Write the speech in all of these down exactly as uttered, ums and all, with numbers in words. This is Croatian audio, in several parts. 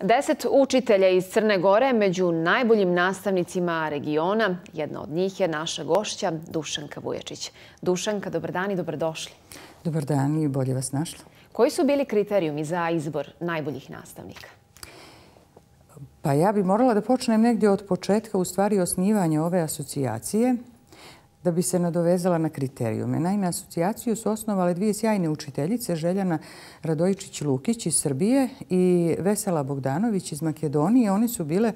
Deset učitelja iz Crne Gore među najboljim nastavnicima regiona. Jedna od njih je naša gošća Dušanka Vujačić. Dušanka, dobar dan i dobrodošli. Dobar dan i bolje vas našla. Koji su bili kriterijumi za izbor najboljih nastavnika? Pa ja bi morala da počnem negdje od početka, u stvari osnivanja ove asocijacije, da bi se nadovezala na kriterijume. Naime, asocijaciju su osnovale dvije sjajne učiteljice, Željana Radojičić-Lukić iz Srbije i Vesela Bogdanović iz Makedonije. One su bile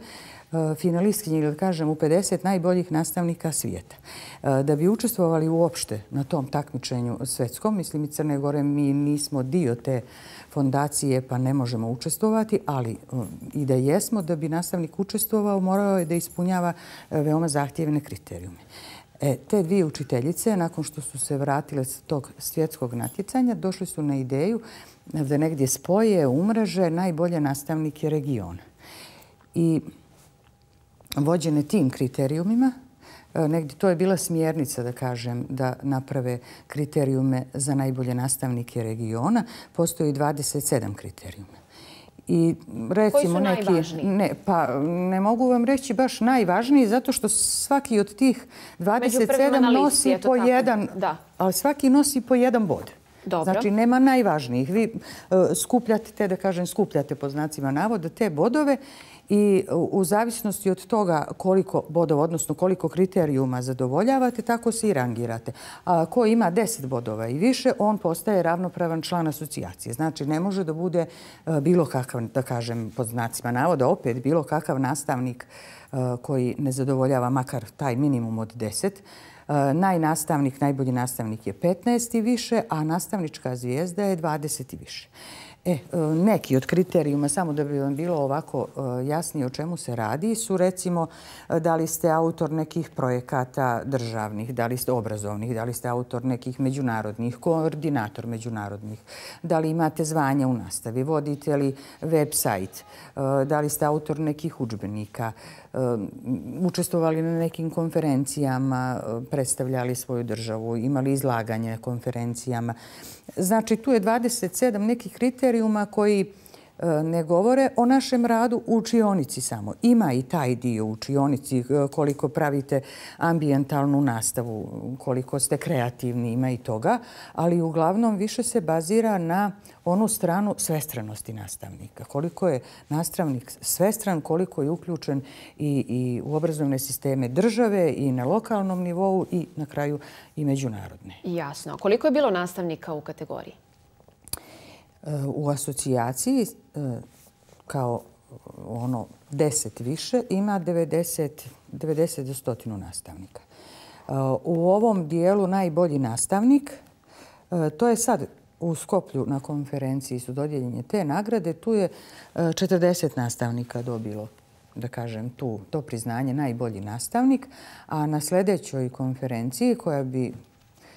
finalistkinje, ili da kažem, u pedeset najboljih nastavnika svijeta. Da bi učestvovali uopšte na tom takmičenju svetskom, mislim i Crne Gore, mi nismo dio te fondacije pa ne možemo učestvovati, ali i da jesmo, da bi nastavnik učestvovao, morao je da ispunjava veoma zahtjevne kriterijume. E, te dvije učiteljice, nakon što su se vratile s tog svjetskog natjecanja, došli su na ideju da negdje spoje, umreže najbolje nastavnike regiona. I vođene tim kriterijumima, negdje to je bila smjernica, da kažem, da naprave kriterijume za najbolje nastavnike regiona. Postoji dvadeset sedam kriterijuma. I recimo koji su neki, najvažniji? Ne, pa ne mogu vam reći baš najvažniji, zato što svaki od tih dvadeset sedam nosi po jedan, ali svaki nosi po jedan bod. Dobro. Znači, nema najvažnijih. Vi uh, skupljate te, da kažem, skupljate po znacima navoda te bodove i u zavisnosti od toga koliko bodova, odnosno koliko kriterijuma zadovoljavate, tako se i rangirate. A ko ima deset bodova i više, on postaje ravnopravan član asocijacije. Znači, ne može da bude uh, bilo kakav, da kažem, pod znacima navoda, opet bilo kakav nastavnik uh, koji ne zadovoljava makar taj minimum od deset. Najnastavnik, najbolji nastavnik je petnaest i više, a nastavnička zvijezda je dvadeset i više. E, neki od kriterijuma, samo da bi vam bilo ovako jasnije o čemu se radi, su recimo da li ste autor nekih projekata državnih, da li ste obrazovnih, da li ste autor nekih međunarodnih, koordinator međunarodnih, da li imate zvanja u nastavi, vodite li web sajt, da li ste autor nekih udžbenika, učestvovali na nekim konferencijama, predstavljali svoju državu, imali izlaganje konferencijama. Znači, tu je dvadeset sedam nekih kriterijuma koji ne govore o našem radu u učionici samo. Ima i taj dio u učionici, koliko pravite ambijentalnu nastavu, koliko ste kreativni, ima i toga, ali uglavnom više se bazira na onu stranu svestranosti nastavnika. Koliko je nastavnik svestran, koliko je uključen i, i u obrazovne sisteme države i na lokalnom nivou i na kraju i međunarodne. Jasno. Koliko je bilo nastavnika u kategoriji? U asocijaciji kao ono deset više ima devedeset, devedeset do stotinu nastavnika. U ovom dijelu najbolji nastavnik, to je sad u Skoplju na konferenciji su dodijeljene te nagrade, tu je četrdeset nastavnika dobilo, da kažem, tu to priznanje najbolji nastavnik, a na sljedećoj konferenciji koja bi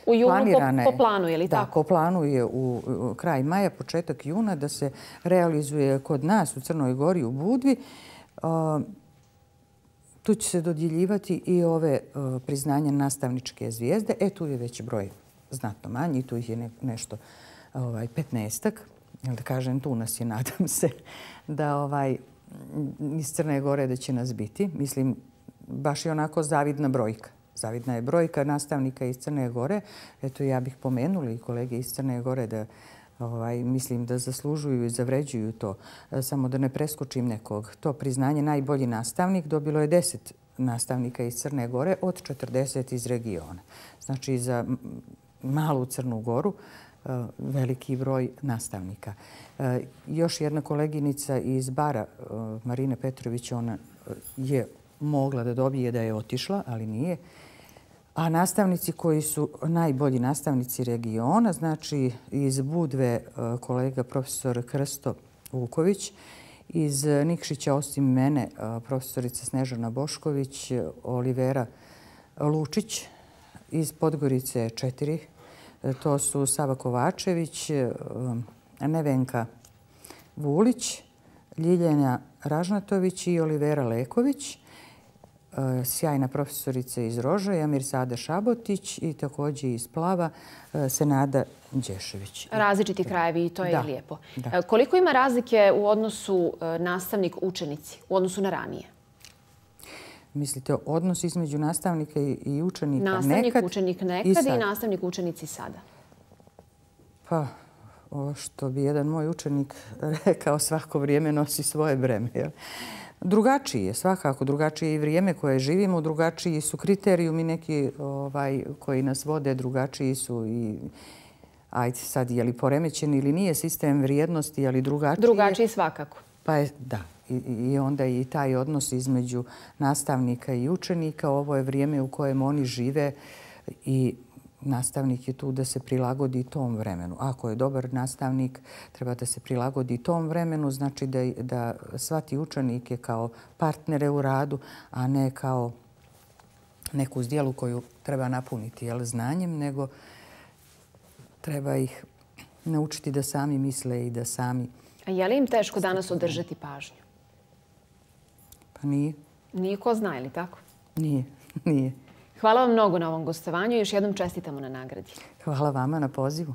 u junu po, po planu, je li da, tako? Po planu je u, u kraj maja, početak juna, da se realizuje kod nas u Crnoj Gori u Budvi. Uh, tu će se dodjeljivati i ove uh, priznanja nastavničke zvijezde. E, tu je već broj znatno manji, tu ih je ne, nešto ovaj, petnaestak. Da kažem, tu nas je, nadam se, da ovaj, iz Crne Gore da će nas biti. Mislim, baš je onako zavidna brojka. Zavidna je brojka nastavnika iz Crne Gore. Eto, ja bih pomenula i kolege iz Crne Gore da ovaj, mislim da zaslužuju i zavređuju to. Samo da ne preskočim nekog. To priznanje najbolji nastavnik dobilo je deset nastavnika iz Crne Gore od četrdeset iz regiona. Znači, za malu Crnu Goru veliki broj nastavnika. Još jedna koleginica iz Bara, Marina Petrović, ona je mogla da dobije da je otišla, ali nije. A nastavnici koji su najbolji nastavnici regiona, znači iz Budve kolega profesor Krsto Vuković, iz Nikšića osim mene profesorica Snežana Bošković, Olivera Lučić, iz Podgorice četiri, to su Sava Kovačević, Nevenka Vulić, Ljiljana Ražnatović i Olivera Leković. sjajna profesorica iz Rožaja, Mirsada Šabotić, i također iz Plava, Senada Đešević. Različiti krajevi i to je lijepo. Koliko ima razlike u odnosu nastavnik-učenici, u odnosu na ranije? Mislite odnos između nastavnika i učenika nekad? Nastavnik-učenik nekad i nastavnik-učenici sada. Pa, ovo što bi jedan moj učenik rekao, svako vrijeme nosi svoje breme. Drugačiji je, svakako. Drugačije je i vrijeme koje živimo, drugačiji su kriterijumi neki koji nas vode, drugačiji su i, ajde sad, je li poremećen ili nije sistem vrijednosti, ali drugačiji je. Drugačiji svakako. Pa je, da. I onda i taj odnos između nastavnika i učenika. Ovo je vrijeme u kojem oni žive i nastavnik je tu da se prilagodi tom vremenu. Ako je dobar nastavnik, treba da se prilagodi tom vremenu, znači da, da shvati učenike kao partnere u radu, a ne kao neku zdjelu koju treba napuniti jel, znanjem, nego treba ih naučiti da sami misle i da sami... A je li im teško danas održati pažnju? Pa nije. Nije ko zna, ili tako? Nije, nije. Hvala vam mnogo na ovom gostovanju i još jednom čestitamo na nagradi. Hvala vama na pozivu.